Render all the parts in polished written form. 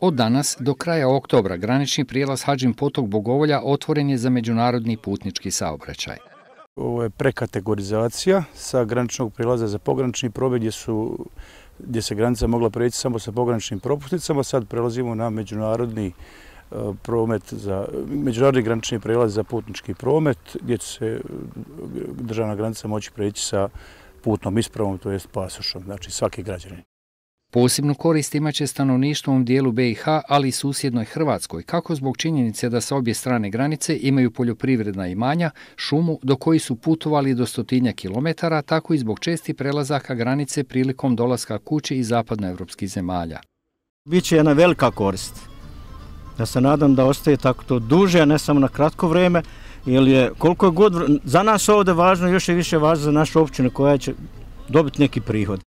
Od danas do kraja oktobra granični prijelaz Hadžin Potok Bogovolja otvoren je za međunarodni putnički saobraćaj. Ovo je prekategorizacija sa graničnog prijelaza za pogranični promet gdje se granica mogla preći samo sa pograničnim propusnicama. Sad prelazimo na međunarodni granični prijelaz za putnički promet gdje će se državna granica moći preći sa putnom ispravom, to jest pasošom, znači svaki građanin. Posebnu korist imaće stanovništvo u dijelu BiH, ali i susjednoj Hrvatskoj, kako zbog činjenice da sa obje strane granice imaju poljoprivredna imanja, šumu do koji su putovali do 100 kilometara, tako i zbog čestih prelazaka granice prilikom dolaska kući iz zapadnoevropskih zemalja. Biće jedna velika korist. Ja se nadam da ostaje tako to duže, a ne samo na kratko vrijeme, jer je koliko je god za nas ovdje važno, još je više važno za našu općinu koja će dobiti neki prihod.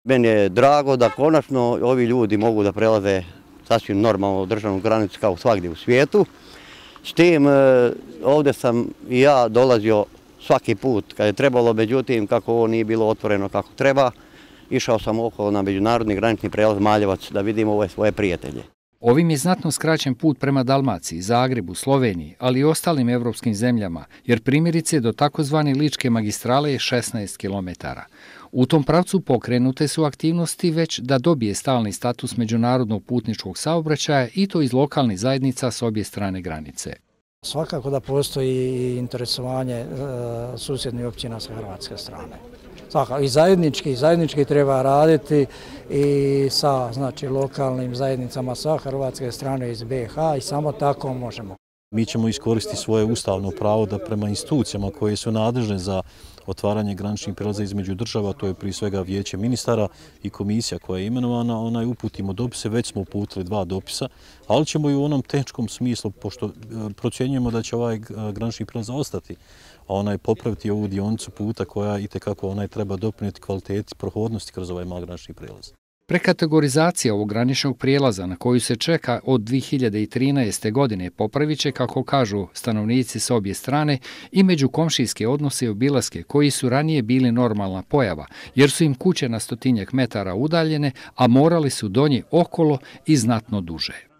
Meni je drago da konačno ovi ljudi mogu da prelaze sasvim normalno državnu granicu kao svagdje u svijetu. S tim ovdje sam i ja dolazio svaki put kad je trebalo, međutim kako ovo nije bilo otvoreno kako treba, išao sam okolo na međunarodni granični prijelaz Maljevac da vidim ove svoje prijatelje. Ovim je znatno skraćen put prema Dalmaciji, Zagrebu, Sloveniji, ali i ostalim evropskim zemljama, jer primjerice do takozvane Ličke magistrale je 16 kilometara. U tom pravcu pokrenute su aktivnosti već da dobije stalni status međunarodnog putničkog saobraćaja i to iz lokalnih zajednica s obje strane granice. Svakako da postoji interesovanje susjednih općina sa hrvatske strane. I zajednički treba raditi i sa lokalnim zajednicama sa hrvatske strane iz BiH i samo tako možemo. Mi ćemo iskoristiti svoje ustavno pravo da prema institucijama koje su nadležne za otvaranje graničnih prijelaza između država, to je prije svega Vijeće ministara i komisija koja je imenovana, uputimo dopise, već smo uputili 2 dopisa, ali ćemo i u onom tehničkom smislu, pošto procjenjujemo da će ovaj granični prijelaz ostati, a popraviti ovu dionicu puta koja itekako treba doprinijeti kvaliteti prohodnosti kroz ovaj mali granični prijelaz. Prekategorizacija ovog graničnog prijelaza na koju se čeka od 2013. godine popravit će, kako kažu stanovnici s obje strane, i međukomšijske odnose i obilaske koji su ranije bili normalna pojava, jer su im kuće na 100 metara udaljene, a morali su do nje okolo i znatno duže.